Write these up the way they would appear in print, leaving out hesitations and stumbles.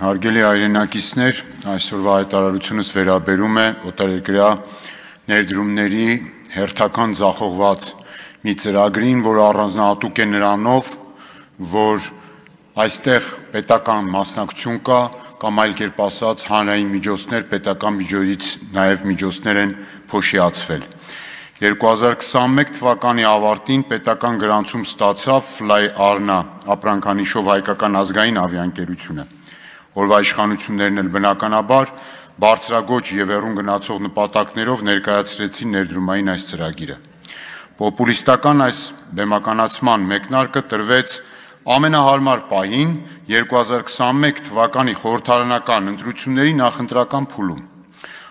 Հարգելի հայրենակիցներ, այսօրվա հայտարարությունս վերաբերում է օտարերկրյա ներդրումների հերթական ձախողված մի ծրագրին, որը առանձնահատուկ է նրանով, որ այստեղ պետական մասնակցություն կա, կամ այլ կերպ ասած հանրային միջոցներ, պետական միջոցից նաև միջոցներ են փոշիացվել։ 2021 թվականի ավարտին պետական գրանցում ստացավ Fly Arna ապրանքանիշով հայկական ազգային ավիաընկերությունը։ Օրվա իշխանություններն էլ բնականաբար բարձրագոչ եւ հեռուն գնացող նպատակներով ներկայացրեցին ներդրումային այս ծրագիրը։ Պոպուլիստական այս բեմականացման մեկնարկը տրվեց ամենահարմար պահին 2021 թվականի խորհրդարանական ընտրությունների նախընտրական փուլում։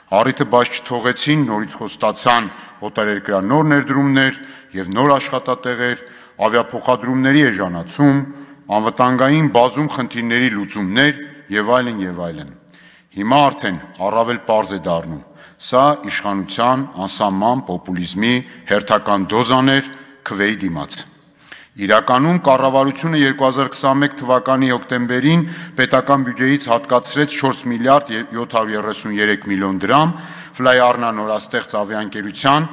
Առիթը բաց չթողեցին նորից խոստացան օտարերկրյա նոր ներդրումներ եւ նոր աշխատատեղեր, ավիափոխադրումների էժանացում, անվտանգային բազում խնդիրների լուծումներ եւ այլն եւ այլն։ Հիմա արդեն առավել պարզ է դառնում, սա իշխանության անսահման պոպուլիզմի հերթական դոզաներ քվեի դիմաց։ Իրականում կառավարությունը 2021 թվականի հոկտեմբերին պետական բյուջեից հատկացրեց 4 միլիարդ 733 միլիոն դրամ Fly Arna նորաստեղծ ավիաընկերության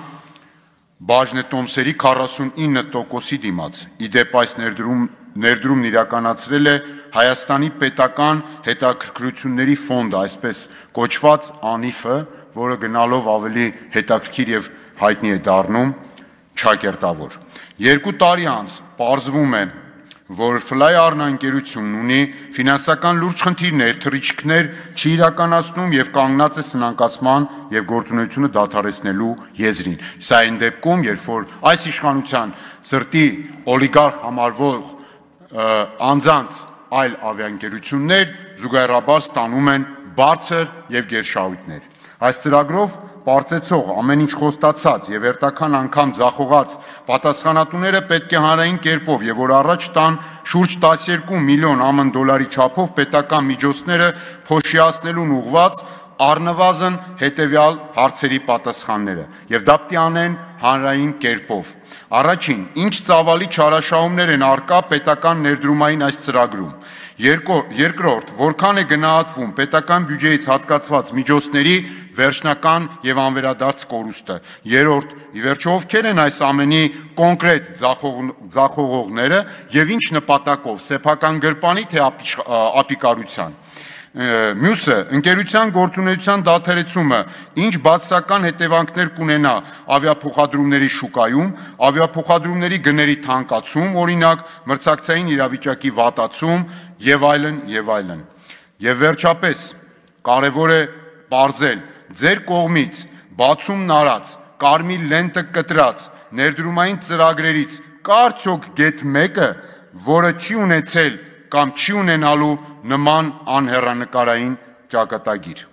բաժնետոմսերի 49%-ի դիմաց։ Իդեպ այս ներդրումն իրականացրել է Հայաստանի պետական հետաքրքրությունների ֆոնդը, այսպես կոչված ԱՆԻՖ-ը, որը գնալով ավելի հետաքրքիր եւ հայտնի է դառնում ճակերտավոր։ 2 տարի անց պարզվում է, որ Fly Arna ընկերությունն ունի ֆինանսական լուրջ խնդիրներ, թռիչքներ չի իրականացնում եւ կանգնած է սնանկացման եւ գործունեությունը դադարեցնելու եզրին։ Սա այն դեպքում, երբ որ այս իշխանության սրտի օլիգարխ համարվող անձանց այլ ավիաընկերություններ զուգահեռաբար ստանում են բարձր եւ գերշահույթներ։ Այս ծրագրով պարծեցող, ամեն ինչ խոստացած եւ հերթական անգամ ձախողած պատասխանատուները պետք է հանրային կերպով եւ որ առաջ տան շուրջ 12 միլիոն ԱՄՆ դոլարի չափով պետական միջոցները փոշիացնելուն ուղղված առնվազն հետեւյալ հարցերի պատասխանները եւ դա պետք է անեն հանրային կերպով։ Առաջին, ինչ ծավալի չարաշահումներ են արկա պետական ներդրումային այս ծրագրում։ Երկրորդ, որքան է գնահատվում պետական բյուջեից հատկացված միջոցների վերջնական եւ անվերադարձ կորուստը։ Երրորդ, ի վերջո ովքեր են այս ամենի կոնկրետ ձախողողները եւ ինչ նպատակով՝ սեփական գրպանի թե ապիկարության։ Մյուսը, ընկերության գործունեության դադարեցումը ինչ բացասական հետևանքներ կունենա ավիափոխադրումների շուկայում, ավիափոխադրումների գների թանկացում, օրինակ մրցակցային իրավիճակի վատացում եւ այլն եւ այլն։ Եվ վերջապես կարեւոր է պարզել ձեր կողմից բացումն արած, կարմիր լենտը կտրած ներդրումային ծրագրերից կա արդյոք գեթ մեկը, որը չի ունեցել կամ չի ունենալու նման անհեռանկարային ճակատագիր։